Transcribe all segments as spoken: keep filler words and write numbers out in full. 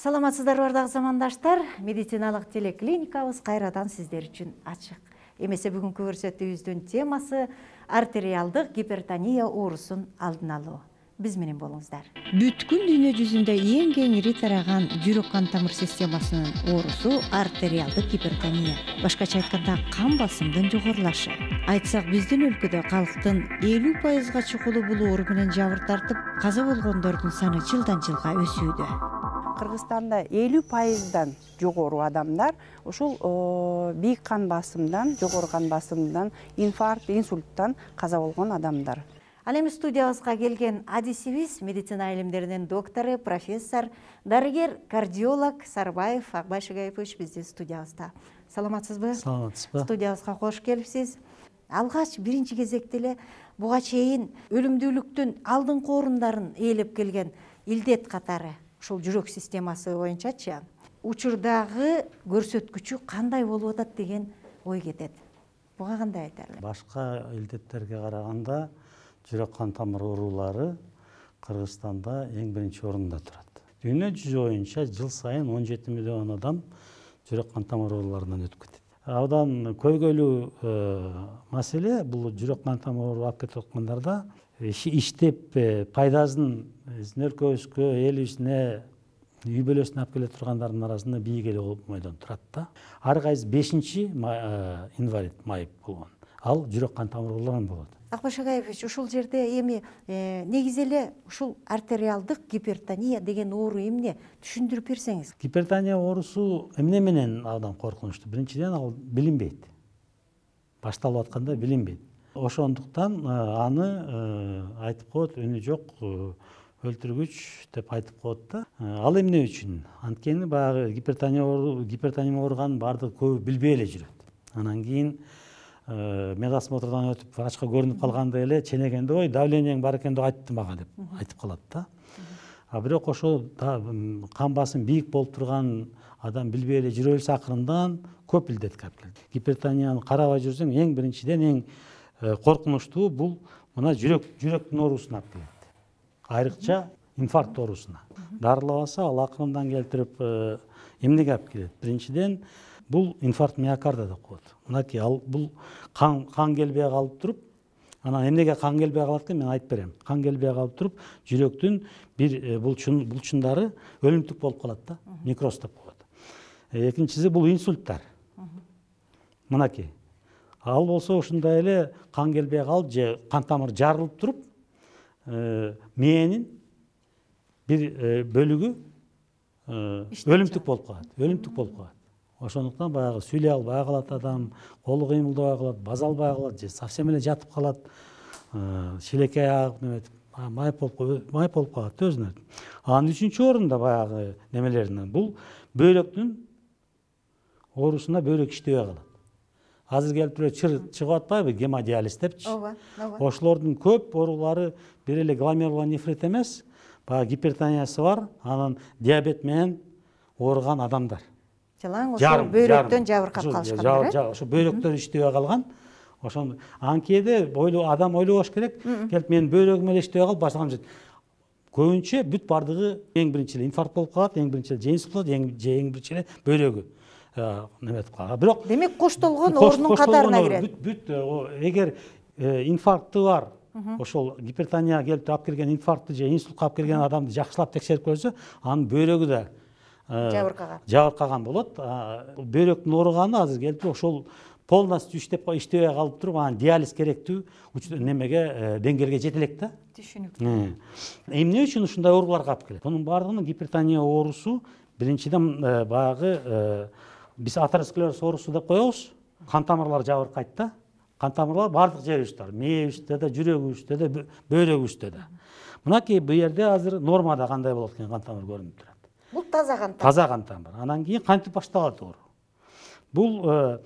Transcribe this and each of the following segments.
Саламатсыздарбы бардагы замандаштар, медициналык телеклиникабыз кайрадан сиздер үчүн ачык. Эмесе бүгүнкү көрсөтүүбүздүн темасы артериалдык гипертония оорусун алдын алуу. Биз менен болуңуздар. Бүткүл дүйнө жүзүндө эң кеңири тараган жүрөк кан тамыр системасынын оорусу артериалдык гипертония. Башкача айтканда кан басымдын жогорулашы. Айтсак, биздин өлкөдө калктын элүү пайызга чукулу бул оору менен жабыр тартып, каза болгондордун саны жылдан жылга өсүүдө. Кыргызстанда элүү пайыздан жогору адамдар ушул бийик кан басымдан, жогору кан басымдан, инфаркт, инсульттан каза болгон адамдар. Ал эми студиябызга келген адисибиз медицина илимдеринин доктору, профессор, дарыгер, кардиолог Сарбаев Акбай Шыгаевич биздин студиябызда. Саламатсызбы? Саламатсызбы. Студиябызга кош келипсиз. Алгач биринчи кезекте эле буга чейин өлүмдүүлүктүн алдыңкы орундарын ээлеп келген илдет катары ушул жүрөк системасы боюнчачы учурдагы көрсөткүчү кандай болуп атат деген ой кетет. Буга кандай айтар эле? Башка илдеттерге караганда жүрөк кан тамыр оорулары Кыргызстанда эң биринчи орунда турат. Дүйнө жүзү боюнча жыл сайын он жети миллион адам жүрөк кан тамыр ооруларынан өтүп кетет. Абдан көйгөйлүү маселе бул жүрөк кан тамыр оору алып кетип аткандарда иштеп пайдасын өлкөбүзгө, элибизне, үй бүлөсүнө алып келе тургандардын арасында бийик эле бойдон турат да. Ар кайсы бешинчи инвалид майып болгон. Ал жүрөк кан тамыр ооруларынан болот. Акбай Шыгаевич, ушул жерде эми негизи эле ушул артериалдык гипертония деген оору эмне түшүндүрүп берсеңиз? Гипертония оорусу эмне менен абдан коркунучтуу? Биринчиден, ал билинбейт. Башталып атканда билинбейт. Ошондуктан аны айтып коет, үнү жок, өлтүргүч деп айтып коет да. Ал эмне үчүн? Анткени баягы гипертония гипертония ооруганын баардыгы көбү билбей эле жүрөт. Анан кийин медосмотрдон өтүп врачка көрүнүп калганда эле ченегенде ой давлениең бар экен деп айтты мага деп айтып калат да. А бирок ошо кан басым бийик болуп турган адам билбей эле жүрө берсе акырындан көп илдетке алып келет. Гипертонияны карабай жүрсөң эң биринчиден эң коркунучтуу бул мына жүрөк жүрөктүн оорусуна алып келет. Айрыкча инфаркт оорусуна. Дарылабаса ал акырындан келтирип эмнеге алып келет? Биринчиден бул инфаркт миокарда деп коет. Мынакей ал бул кан кан келбей калып туруп, анан эмнеге кан келбей калат экен мен айтып берем. Кан келбей калып туруп, жүрөктүн бир булчун булчундары өлүмтүк болуп калат да, некроз деп коет. Экинчиси бул инсульттар. Мынакей. Ал болсо ушундай эле кан келбей калып же кан тамыр жарылып туруп, мээнин бир бөлүгү өлүмтүк болуп калат, өлүмтүк болуп калат. Ошондуктан баягы сүйлөй албай калат адам, колу кыймылдабай калат, база албай калат же совсем эле жатып калат, шилекей агып неметип, майып болуп майып болуп калат өзүнө. Анын үчүнчү орунда баягы немелеринен бул бөйрөктүн оорусуна бөйрөк иштебей калат. Азыр келип туруп чыгып атпайбы гемодиализ депчи? Ооба, ооба. Ошолордун көп оорулары бир эле гломерулонефрит эмес, баягы гипертониясы бар, анан диабет менен ооруган адамдар. Жалаң ошо бөйрөктөн жабыркап калышкандар, э? Ошо бөйрөктөр иштебей калган. Ошондо анкеде адам ойлобош керек, келип менин бөйрөгүм эле иштебей калып башлагам дейт. Көбүнчө бүт бардыгы эң биринчи эле инфаркт болуп калат, эң биринчи эле же инсульт болот, эң биринчи эле бөйрөгү неметип калат. Бирок демек коштолгон оорунун катарына кирет. Бүт эгер инфаркты бар, ошол гипертония келип алып келген инфарктты же инсультка алып келген адамды жакшылап текшерип көрсө, анын бөйрөгү да жабыркаган. Жабыркаган болот. Бөйрөктүн ооруганы азыр келип ошол полностью иштеп иштебей калып туруп, анан диализ керектүү немеге деңгээлге жете элек да. Түшүнүктүү. Эмне үчүн ушундай ооруларга алып келет? Мунун баардыгынын гипертония оорусу биринчиден баягы биз атеросклероз оорусу деп коебуз. Кан тамырлар жабыркайт да. Кан тамырлар баардык жерибизде бар. Мээбизде да, жүрөгүбүздө да, бөйрөгүбүздө да. Мынакей бу жерде азыр нормада кандай болот экен кан тамыр көрүнүп турат. Бул таза кан тамыр. Таза кан тамыр. Анан кийин кантип башталат оору? Бул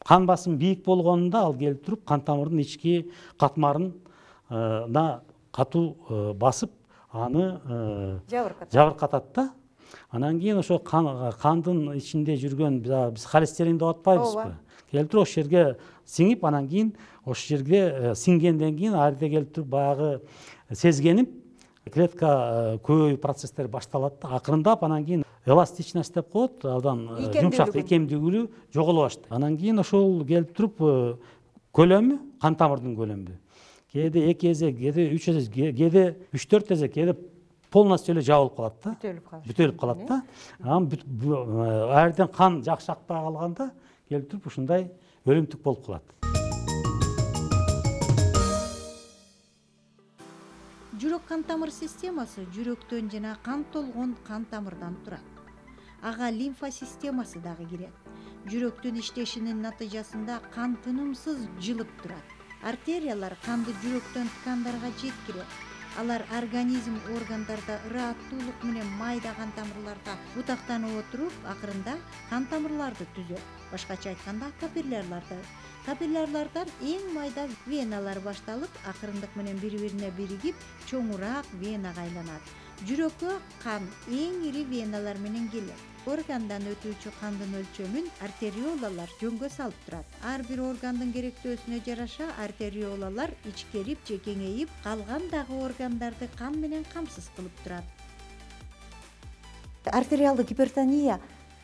кан басым бийик болгонунда ал келип туруп кан тамырдын ички катмарына катуу басып, аны жабыркатат да. Анан кийин ошо кандын ичинде жүргөн биз холестерин деп атпайбызбы? Келип туруп ошол жерге сиңип, анан кийин ошол жерге сиңгенден кийин ар жерде келип туруп баягы сезгенип клетка көбөйүү процесстери башталат да, акырындап анан кийин эластичность деп коет, абдан жумшак икемдүүлүгү жоголо баштайт. Анан кийин ошол келип туруп көлөмү, кан тамырдын көлөмү кээде эки эзе, кээде үч эзе, кээде үч төрт эзе, кээде полностью эле жабылып калат да, бүтөлүп калат да. Анан аерден кан жакшы акпай калганда келип туруп ушундай өлүмтүк болуп калат. Жүрөк кан тамыр системасы жүрөктөн жана кан толгон кан тамырдан турат. Ага лимфа системасы дагы кирет. Жүрөктүн иштешинин натыйжасында кан тынымсыз жылып турат. Артериялар канды жүрөктөн ткандарга жеткирет. Алар организм органдарда ырааттуулук менен майда кан тамырларга бутактанып отуруп, акырында кан тамырларды түзөт. Башкача айтканда капиллярларды. Капиллярлардан эң майда веналар башталып, акырындык менен бири-бирине биригип, чоңураак венага айланат. Жүрөккө кан эң ири веналар менен келет. Органдан өтүүчү кандын өлчөмүн артериолалар жөнгө салып турат. Ар бир органдын керектөөсүнө жараша артериолалар ичкерип же кеңейип, калган дагы органдарды кан менен камсыз кылып турат. Артериалдык гипертония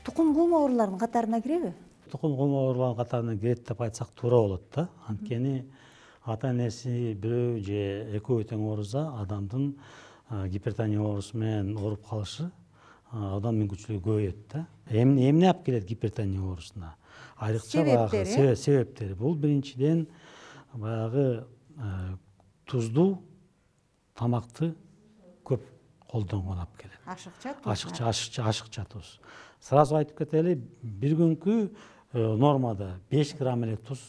тукум кулма ооруларынын катарына киреби? Тукум кулма ооруларынын катарына кирет деп айтсак туура болот да. Анткени ата-энеси бирөө же экөө тең ооруза адамдын гипертония оорусу менен ооруп калышы абдан мүмкүнчүлүгү көбөйөт да. Эмне эмне алып келет гипертония оорусуна? Айрыкча баягы себептери. Бул биринчиден баягы туздуу тамакты көп колдонгон алып келет. Ашыкча туз. Ашыкча, ашыкча, ашыкча туз. Сразу айтып кетели, бир күнкү нормада беш грамм эле туз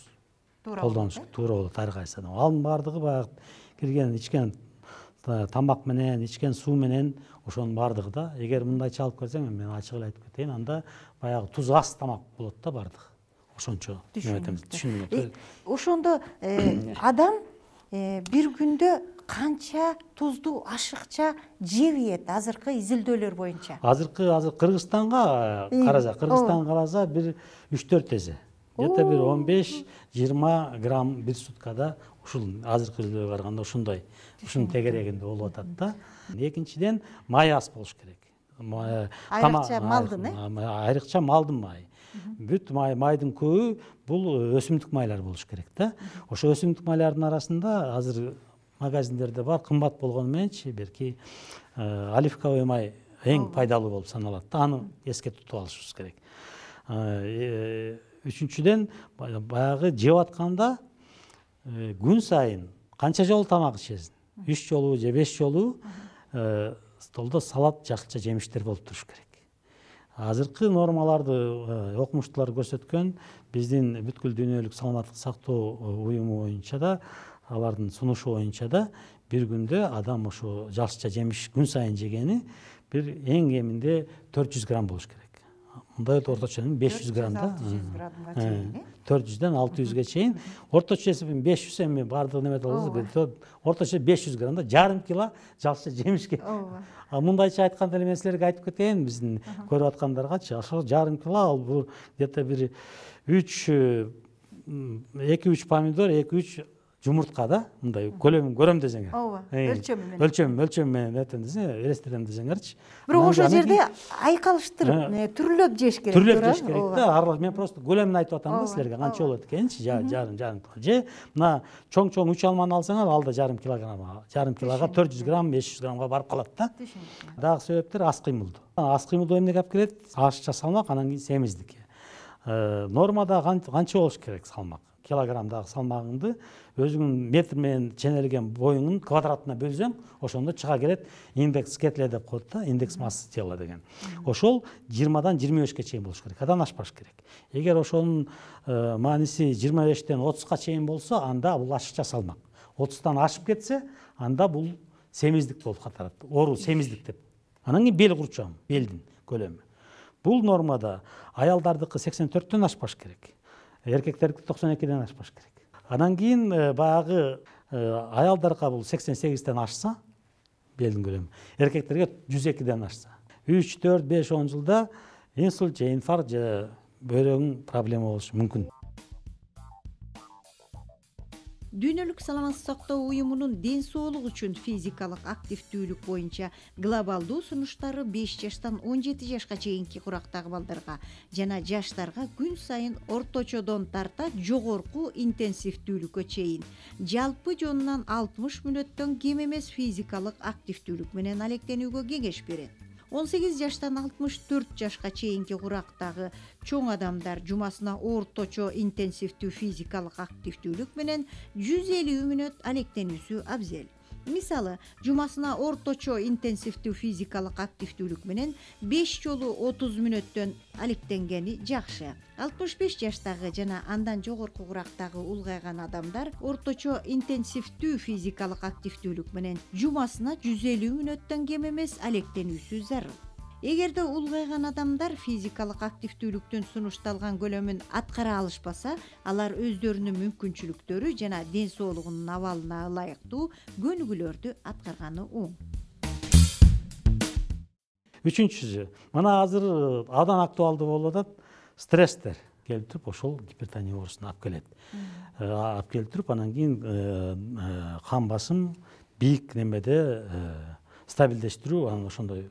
колдонуш туура болот ар кайсы адам. Анын баардыгы баягы кирген, ичкен тамак менен, ичкен суу менен ошонун баардыгы да. Эгер мындайча алып келсең, мен ачык эле айтып кетейин, анда баягы туз аз тамак болот да баардыгы. Ошончо түшүнүктүү. Ошондо адам бир күндө канча тузду ашыкча жебейт азыркы изилдөөлөр боюнча? Азыркы азыр Кыргызстанга караса, Кыргызстанга караса бир үч төрт эзе. Где-то бир он беш жыйырма грамм бир суткада ушул азыркы изилдөөгө караганда ушундай, ушунун тегерегинде болуп атат да. Экинчиден май аз болуш керек. Айрыкча малдын, э? Айрыкча малдын майы. Бүт май, майдын көбү бул өсүмдүк майлар болуш керек да. Ошо өсүмдүк майлардын арасында азыр магазиндерде бар, кымбат болгону мененчи берки оливковый май эң пайдалуу болуп саналат да. Аны эске тутуп алышыбыз керек. Үчүнчүден баягы жеп атканда күн сайын канча жолу тамак ичесиң? үч жолу же беш жолу столдо салат, жакшыча жемиштер болуп туруш керек. Азыркы нормаларды окумуштуулар көрсөткөн, биздин бүткүл дүйнөлүк саламаттык сактоо уюму боюнча да, алардын сунушу боюнча да бир күндө адам ошо жакшыча жемиш күн сайын жегени бир эң кеминде төрт жүз грамм болуш керек. Мындай орточо беш жүз граммда төрт жүздөн алты жүзгө чейин, орточо эсебин беш жүз, эми баардыгы неме болсо орточо беш жүз граммда жарым кило жакшы жемиш керек. Мындайча айтканда эле мен силерге айтып кетейин, биздин көрүп аткандаргачы, ошо жарым кило ал бул где-то бир үч эки үч помидор, эки үч жумуртка да, мындай көлөмүн көрөм десеңер. Ооба, өлчөмү менен. Өлчөм, өлчөм менен этен десең, элестирем десеңерчи. Бирок ошол жерде айкалыштырып, түрлөп жеш керек. Түрлөп жеш керек да. Мен просто көлөмүн айтып атам да силерге, канча болот экенчи, жарым жарым кило. Же мына чоң-чоң үч алманы алсаңар, ал да жарым килограмм, жарым килога төрт жүз грамм, беш жүз граммга барып калат да. Дагы себептер аз кыймылдуу. Аз кыймылдуу эмнеге алып келет? Ашыкча салмак, анан кийин семиздик. Нормада канча болуш керек салмак? Килограммдагы салмагыңды өзүңүн метр менен ченелген боюңдун квадратына бөлсөң, ошондо чыга келет индекс кетле деп коет да, индекс массы тела деген. Ошол жыйырмадан жыйырма бешке чейин болуш керек, адан ашпаш керек. Эгер ошонун мааниси жыйырма бештен отузга чейин болсо, анда бул ашыкча салмак. отуздан ашып кетсе, анда бул семиздик болуп катат. Оору семиздик деп. Анан кийин бел курчам, белдин көлөмү. Бул нормада аялдардыкы сексен төрттөн ашпаш керек. Эркектердики токсон экиден ашпаш керек. Анан кийин баягы аялдарга бул сексен сегизден ашса, белдин көлөмү, эркектерге жүз экиден ашса, үч, төрт, беш, он жылда инсульт же инфаркт же бөйрөгүн проблема болушу мүмкүн. Дүйнөлүк саламаттык сактоо уюмунун ден соолук үчүн физикалык активдүүлүк боюнча глобалдуу сунуштары беш жаштан он жети жашка чейинки курактагы балдарга жана жаштарга күн сайын орточодон тарта жогорку интенсивдүүлүккө чейин жалпы жонунан алтымыш мүнөттөн кем эмес физикалык активдүүлүк менен алектенүүгө кеңеш берет. он сегиз жаштан алтымыш төрт жашка чейинки курактагы чоң адамдар жумасына орточо интенсивдүү физикалык активдүүлүк менен жүз элүү мүнөт алектенүүсү абзел. Мисалы, жумасына орточо интенсивдүү физикалык активдүүлүк менен беш жолу отуз мүнөттөн алектенгени жакшы. алтымыш беш жаштагы жана андан жогорку курактагы улгайган адамдар орточо интенсивдүү физикалык активдүүлүк менен жумасына жүз элүү мүнөттөн кем эмес алектенүүсү зарыл. Эгерде улгайган адамдар физикалык активдүүлүктүн сунушталган көлөмүн аткара алышпаса, алар өздөрүнүн мүмкүнчүлүктөрү жана ден соолугунун абалына ылайыктуу көнүгүүлөрдү аткарганы оң. Үчүнчүсү, мына азыр абдан актуалдуу болуп атат стресстер келип туруп ошол гипертония оорусуна алып келет. Алып келип туруп анан кийин кан басым бийик немеде стабилдештирүү анан ошондой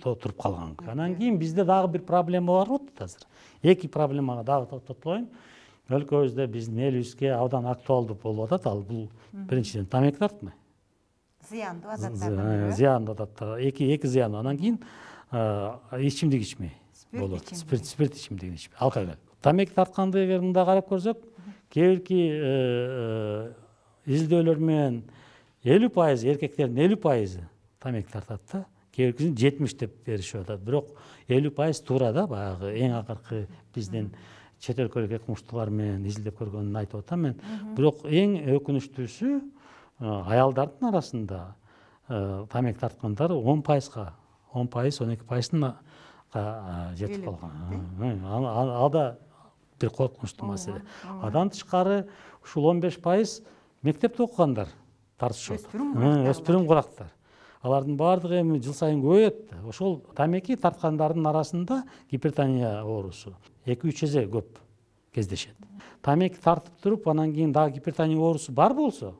туруп калган. Анан кийин бизде дагы бир проблема бар болуп атат азыр. Эки проблемага дагы токтолуп коеюн. Өлкөбүздө биздин элибизге абдан актуалдуу болуп атат. Ал бул биринчиден тамеки тартмай. Зыяндуу адаттар. Зыяндуу адаттар. Эки эки зыян. Анан кийин ичимдик ичмей болот. Спирт спирт ичимдигин ичмей. Алкоголь. Тамеки тартканды эгер мындай карап көрсөк, кээ бирки изилдөөлөр менен элүү пайыз эркектердин элүү пайызы тамеки тартат да. Кээ биркисин жетимиш деп беришип атат. Бирок элүү пайыз туура да, баягы эң акыркы биздин чет өлкөлүк экмуштуулар менен изилдеп көргөнүн айтып атам мен. Бирок эң өкүнүчтүүсү аялдардын арасында тамеки тарткандар он пайызга, он пайыз, он эки пайыздын жетип калган. Ал да бир коркунучтуу маселе. Андан тышкары ушул он беш пайыз мектепте окугандар тартышат. Өспүрүм курактар. Алардын баардыгы эми жыл сайын көбөйөт. Ошол тамеки тарткандардын арасында гипертония оорусу эки үч эсе көп кездешет. Тамеки тартып туруп, анан кийин дагы гипертония оорусу бар болсо,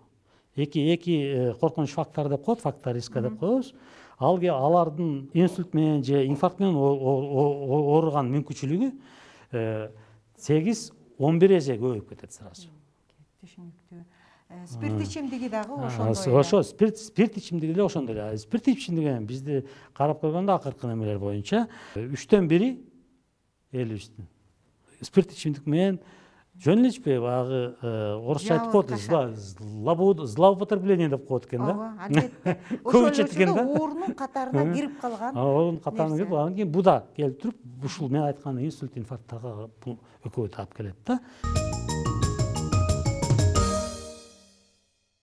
эки эки коркунуч фактор деп коет, фактор риска деп коебуз. Ал алардын инсульт менен же инфаркт менен ооруган мүмкүнчүлүгү сегиз он бир эсе көбөйүп кетет сразу. Түшүнүктүү. Спирт ичимдиги дагы ошондой. Ошо спирт спирт ичимдиги эле ошондой эле. Спирт ичимдиги бизди карап көргөндө акыркы немелер боюнча үчтөн бири элибиздин спирт ичимдик менен жөн эле ичпей, баягы орусча айтып коет, злоупотребление деп коет экен да. Ооба, албетте. Ошол эле оорунун катарына кирип калган. Оорунун катарына кирип, анан кийин бу да келип туруп, ушул мен айткан инсульт, инфаркттарга бул экөө таап келет да.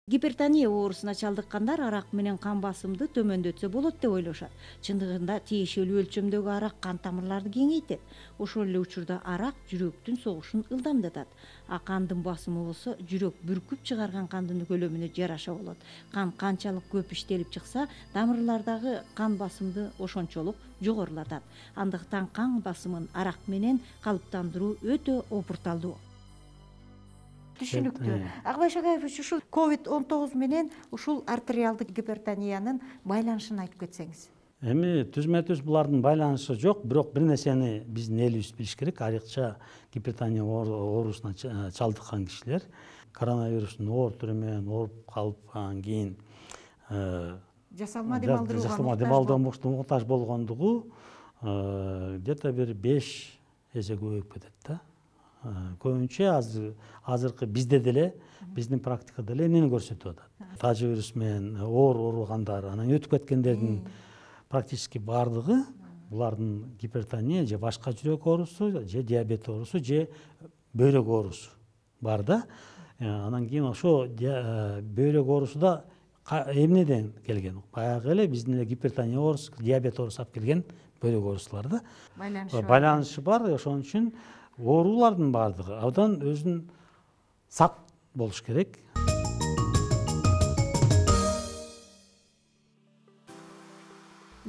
Гипертония оорусуна чалдыккандар арак менен кан басымды төмөндөтсө болот деп ойлошот. Чындыгында тиешелүү өлчөмдөгү арак кан тамырларды кеңейтет. Ошол эле учурда арак жүрөктүн согушун ылдамдатат. А кандын басымы болсо жүрөк бүркүп чыгарган кандын көлөмүнө жараша болот. Кан канчалык көп иштелип чыкса, тамырлардагы кан басымды ошончолук жогорулатат. Андыктан кан басымын арак менен калыптандыруу өтө опурталдуу. Түшүнүктүү. Акбай Шагаевич, ушул ковид он тогуз менен ушул артериалдык гипертониянын байланышын айтып кетсеңиз. Эми түзмө-түз булардын байланышы жок, бирок бир нерсени биздин элибиз билиш керек. Айрыкча гипертония оорусуна чалдыккан кишилер коронавирустун оор түрү менен ооруп калып, анан кийин жасалма дем алдырууга муктаж болгондугу где-то бир беш эсе көбөйүп кетет да. Көбүнчө азыр азыркы бизде деле, биздин практикада деле эмнени көрсөтүп атат? Тажы вирус менен оор ооругандар, анан өтүп кеткендердин практически баардыгы булардын гипертония же башка жүрөк оорусу, же диабет оорусу, же бөйрөк оорусу бар да. Анан кийин ошо бөйрөк оорусу да эмнеден келген? Баягы эле биздин эле гипертония оорусу, диабет оорусу алып келген бөйрөк оорусулар да. Байланышы бар. Ошон үчүн оорулардын баардыгы абдан өзүн сак болуш керек.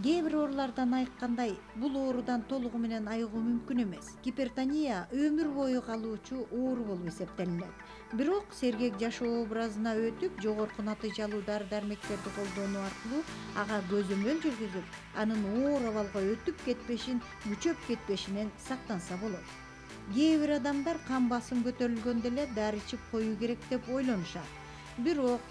Кээ бир оорулардан айыккандай бул оорудан толугу менен айыгуу мүмкүн эмес. Гипертония өмүр бою калуучу оору болуп эсептелинет. Бирок сергек жашоо образына өтүп, жогорку натыйжалуу дары-дармектерди колдонуу аркылуу ага көзөмөл жүргүзүп, анын оор абалга өтүп кетпешин, күчөп кетпешинен сактанса болот. Кээ бир адамдар кан басым көтөрүлгөндө эле дары ичип коюу керек деп ойлонушат. Бирок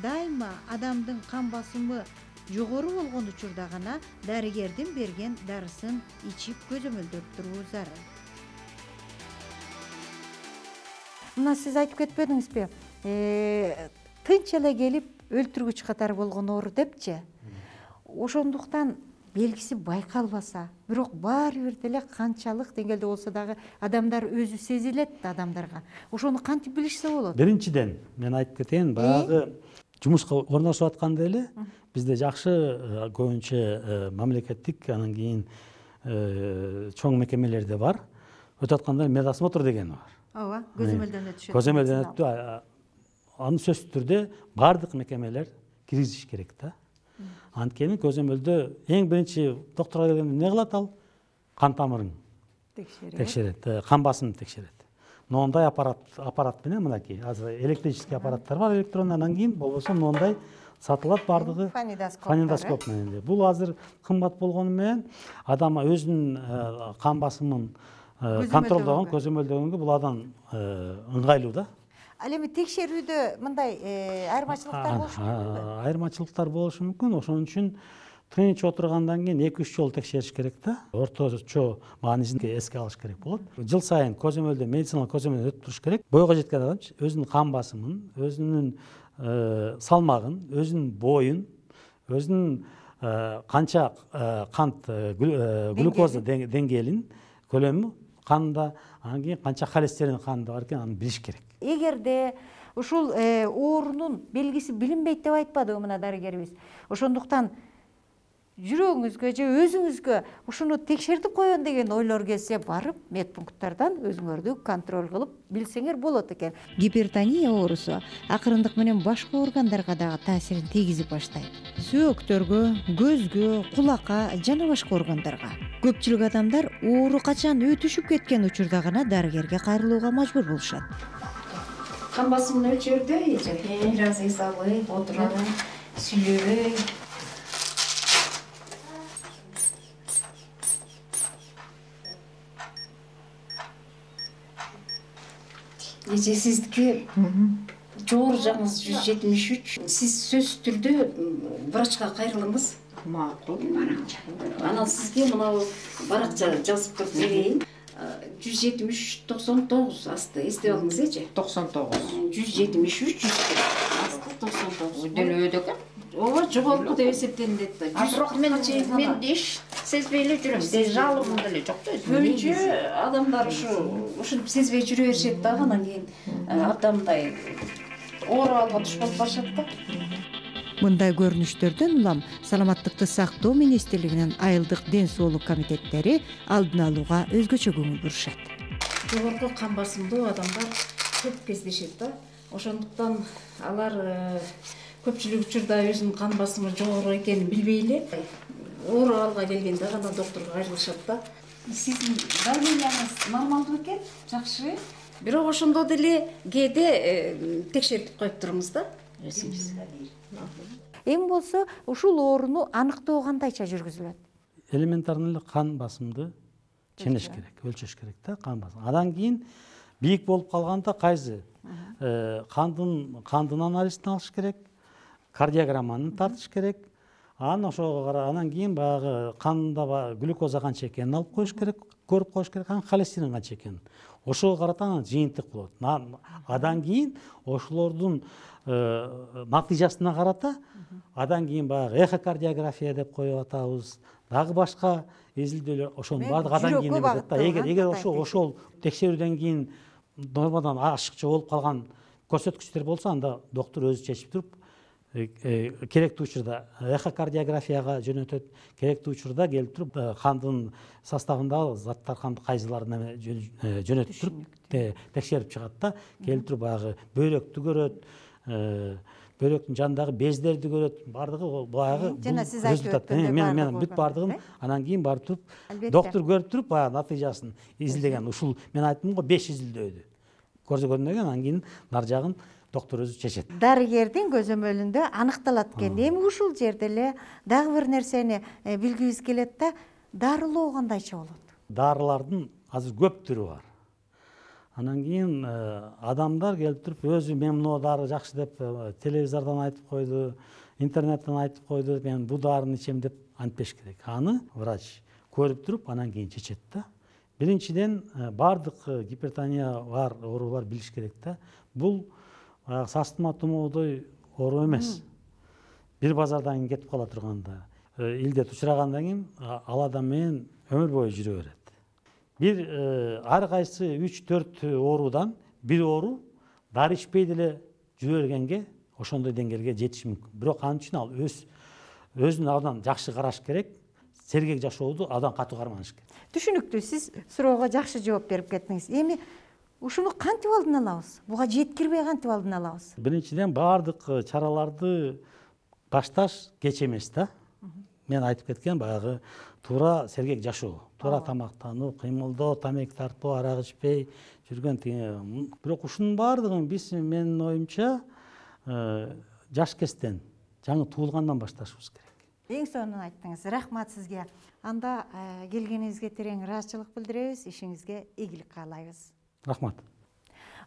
дайыма адамдын кан басымы жогору болгон учурда гана дарыгердин берген дарысын ичип көзөмөлдөп туруу зарыл. Мына сиз айтып кетпедиңизби? Тынч эле келип өлтүргүч катары болгон оору депчи. Ошондуктан белгиси байкалбаса, бирок баары бир деле канчалык деңгээлде болсо дагы адамдар өзү сезилет да адамдарга. Ошону кантип билишсе болот? Биринчиден мен айтып кетейин, баягы жумушка орношуп атканда эле бизде жакшы көбүнчө мамлекеттик, анан кийин чоң мекемелерде бар. Өтүп атканда медосмотр деген бар. Ооба, көзөмөлдөн өтүшөт. Көзөмөлдөн өтүп, аны сөзсүз түрдө бардык мекемелер киргизиш керек да. Анткени көзөмөлдө эң биринчи доктурга келгенде эмне кылат ал? Кан тамырың текшерет, кан басымды текшерет. Моундай аппарат аппарат менен мынакей азыр электрический аппараттар бар, электронный, анан кийин болбосо моундай сатылат бардыгы фонендоскоп менен. Бул азыр кымбат болгону менен адам өзүнүн кан басымын контролдогон, көзөмөлдөгөнгө бул адам ыңгайлуу да. Ал эми текшерүүдө мындай айырмачылыктар болушу мүмкүнбү? Айырмачылыктар болушу мүмкүн. Ошон үчүн тынч отургандан кийин эки үч жолу текшериш керек да. Орточо маанисин эске алыш керек болот. Жыл сайын көзөмөлдө, медициналык көзөмөлдөн өтүп туруш керек. Бойго жеткен адам өзүнүн кан басымын, өзүнүн салмагын, өзүнүн боюн, өзүнүн канча кант глюкоза деңгээлин, көлөмү канда, анан кийин канча холестерин канда бар экенин аны билиш керек. Эгерде ушул оорунун белгиси билинбейт деп айтпадыбы мына дарыгерибиз. Ошондуктан жүрөгүңүзгө же өзүңүзгө ушуну текшертип коеюн деген ойлор келсе, барып медпункттардан өзүңөрдү контроль кылып билсеңер болот экен. Гипертония оорусу акырындык менен башка органдарга дагы таасирин тийгизип баштайт. Сөөктөргө, көзгө, кулакка жана башка органдарга. Көпчүлүк адамдар оору качан өтүшүп кеткен учурда гана дарыгерге кайрылууга мажбур болушат. Кан басымын өлчөрдө, бир аз эс алып, отуруп, сүйлөбөй. Эже сиздики жогору жагыңыз жүз жетимиш үч. Сиз сөзсүз түрдө врачка кайрылыңыз. Макул. Анан сизге мына баракча жазып туруп берейин. жүз жетимиш үч токсон тогуз асты эстеп алыңыз эже. токсон тогуз. жүз жетимиш үч асты токсон тогуз. Делөөдө экен. Ооба, жогорку деп эсептелинет да. Бирок мен мен иш сезбей эле жүрөм. Жалыгым деле жок да. Көбүнчө адамдар ушу ушинтип сезбей жүрө беришет дагы, анан кийин абдамдай оору алга туш болуп барышат да. Мындай көрүнүштөрдөн улам саламаттыкты сактоо министрлигинин айылдык ден соолук комитеттери алдын алууга өзгөчө көңүл бурушат. Жогорку кан басымдуу адамдар көп кездешет да. Ошондуктан алар көпчүлүк учурда өзүнүн кан басымы жогору экенин билбей эле оору абалга келгенде гана доктурга кайрылышат да. Сиздин давленияңыз нормалдуу экен, жакшы. Бирок ошондо деле кээде текшертип коюп туруңуз да. Эми болсо ушул ооруну аныктоо кандайча жүргүзүлөт? Элементарный эле кан басымды ченеш керек, өлчөш керек да, кан басым. Андан кийин бийик болуп калганда кайсы кандын кандын анализин алыш керек, кардиограмманы тартыш керек. Анан ошого карап, анан кийин баягы канда глюкоза канча экенин алып коюш керек, көрүп коюш керек, анан холестерин канча экенин. Ошого карата анан жыйынтык болот. Андан кийин ошолордун натыйжасына карата, андан кийин баягы эхокардиография деп коюп атабыз, дагы башка изилдөөлөр, ошонун баардыгы андан кийин өтөт да. Эгер эгер ошол ошол текшерүүдөн кийин нормадан ашыкча болуп калган көрсөткүчтөр болсо, анда доктур өзү чечип туруп керектүү учурда эхокардиографияга жөнөтөт, керектүү учурда келип туруп кандын составындагы заттар канды кайсыларын жөнөтүп туруп текшерип чыгат да. Келип туруп баягы бөйрөктү көрөт, бөйрөктүн жанындагы бездерди көрөт, баардыгы баягы жана сиз айтып результат. Мен мен бүт баардыгын анан кийин барып туруп доктор көрүп туруп баягы натыйжасын изилдеген. Ушул мен айттым го беш изилдөөдү көрсөткөндөн кийин анан кийин нар жагын доктор өзү чечет. Дарыгердин көзөмөлүндө аныкталат экен. Эми ушул жерде эле дагы бир нерсени билгибиз келет да, дарылоо кандайча болот? Дарылардын азыр көп түрү бар. Анан кийин адамдар келип туруп өзү мен мына дары жакшы деп телевизордон айтып койду, интернеттен айтып койду, мен бу дарыны ичем деп антпеш керек. Аны врач көрүп туруп анан кийин чечет да. Биринчиден баардык гипертония бар оорулар билиш керек да. Бул састыма тумоодой оору эмес. Бир базардан кийин кетип кала турганда, илдет учурагандан кийин ал адам менен өмүр бою жүрө берет. Бир ар кайсы үч төрт оорудан бир оору дары ичпей деле жүрө бергенге ошондой деңгээлге жетиши мүмкүн. Бирок ал үчүн ал өз өзүн абдан жакшы караш керек. Сергек жашооду абдан катуу карманыш керек. Түшүнүктүү, сиз суроого жакшы жооп берип кеттиңиз. Эми ушуну кантип алдын алабыз? Буга жеткирбей кантип алдын алабыз? Биринчиден баардык чараларды башташ кеч эмес да. Мен айтып кеткен баягы туура сергек жашоо, туура тамактануу, кыймылдоо, тамеки тартпоо, арак ичпей жүргөн. Бирок ушунун баардыгын биз менин оюмча жаш кезден, жаңы туулгандан башташыбыз керек. Эң сонун айттыңыз. Рахмат сизге. Анда келгениңизге терең ыраазычылык билдиребиз, ишиңизге ийгилик каалайбыз. Рахмат.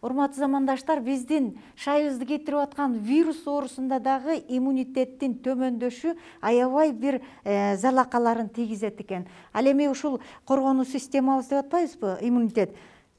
Урматтуу замандаштар, биздин шайыбызды кетирип аткан вирус оорусунда дагы иммунитеттин төмөндөшү аябай бир залакаларын тийгизет экен. Ал эми ушул коргонуу системабыз деп атпайбызбы, иммунитет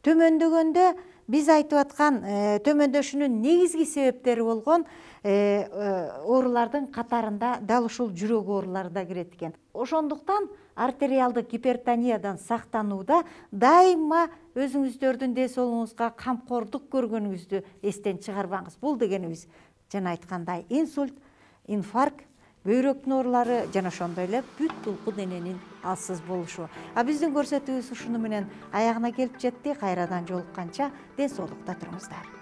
төмөндөгөндө биз айтып аткан төмөндөшүнүн негизги себептери болгон оорулардын катарында дал ушул жүрөк оорулары да кирет экен. Ошондуктан артериалдык гипертониядан сактанууда дайыма өзүңүздөрдүн ден соолугуңузга камкордук көргөнүңүздү эстен чыгарбаңыз. Бул дегенибиз жана айткандай инсульт, инфаркт, бөйрөктүн оорулары жана ошондой эле бүт булку дененин алсыз болушу. А биздин көрсөтүүбүз ушуну менен аягына келип жетти. Кайрадан жолукканча ден соолукта туруңуздар.